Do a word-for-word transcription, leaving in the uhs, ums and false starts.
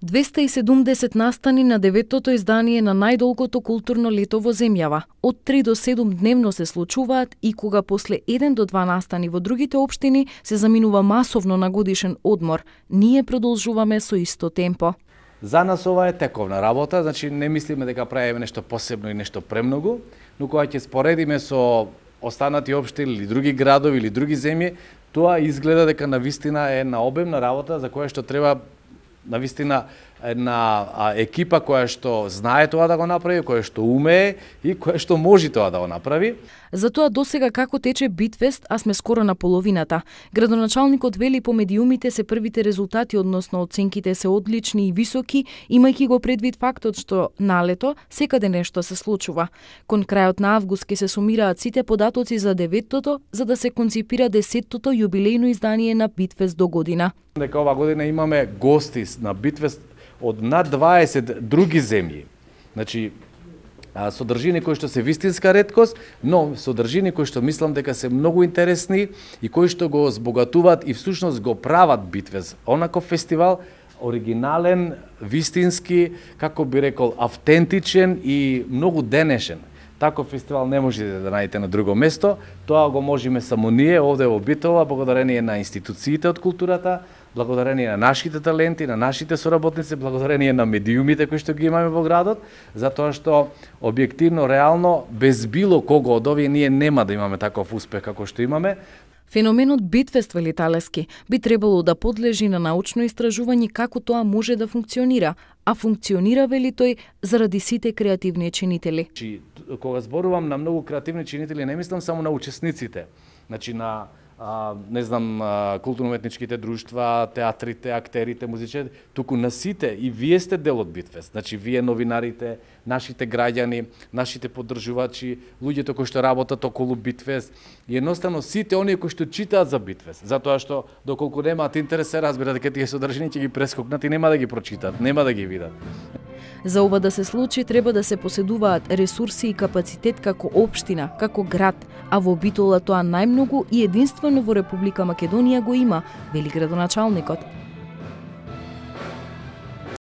двеста и седумдесет настани на деветото издание на најдолгото културно лето во земјава. Од три до седум дневно се случуваат и кога после еден до два настани во другите општини се заминува масовно на годишен одмор, ние продолжуваме со исто темпо. За нас ова е тековна работа, значи не мислиме дека правиме нешто посебно и нешто премногу, но кога ќе споредиме со останати општини или други градови или други земји, тоа изгледа дека навистина е на обемна работа за која што треба навистина една екипа која што знае тоа да го направи, која што умее и која што може тоа да го направи. Затоа досега како тече Битфест, а сме скоро на половината. Градоначалникот вели по медиумите се првите резултати, односно оценките се одлични и високи, имајќи го предвид фактот што на лето секаде нешто се случува. Кон крајот на август ќе се сумираат сите податоци за деветтото, за да се конципира десеттото јубилејно издание на Битфест до година. Дека ова година имаме гости на Битфест од над дваесет други земји. Значи, содржини кои што се вистинска реткост, но содржини кои што мислам дека се многу интересни и кои што го збогатуваат и всушност го прават Битфест. Онаков фестивал оригинален, вистински, како би рекол, автентичен и многу денешен. Таков фестивал не можете да најдете на друго место, тоа го можеме само ние овде во Битола, благодарение на институциите од културата, благодарение на нашите таленти, на нашите соработници, благодарение на медиумите кои што ги имаме во градот, затоа што објективно, реално, без било кого од овие ние нема да имаме таков успех како што имаме. Феноменот Битфест, вели Талески, би требало да подлежи на научно истражување како тоа може да функционира, а функционира, вели тој, заради сите креативни чинители. Значи, кога зборувам на многу креативни чинители, не мислам само на учесниците, значи на А, не знам, културно-уметничките друштва, театрите, актерите, музичарите, туку на сите, и вие сте дел од Битфест. Значи, вие новинарите, нашите граѓани, нашите поддржувачи, луѓето кои што работат околу Битфест, и едноставно сите оние кои што читаат за Битфест, затоа што доколку немаат интерес се разбира дека тие содржини ќе ги прескокнат и нема да ги прочитат, нема да ги видат. За ова да се случи, треба да се поседуваат ресурси и капацитет како општина, како град, а во Битола тоа најмногу и единствено во Република Македонија го има, вели градоначалникот.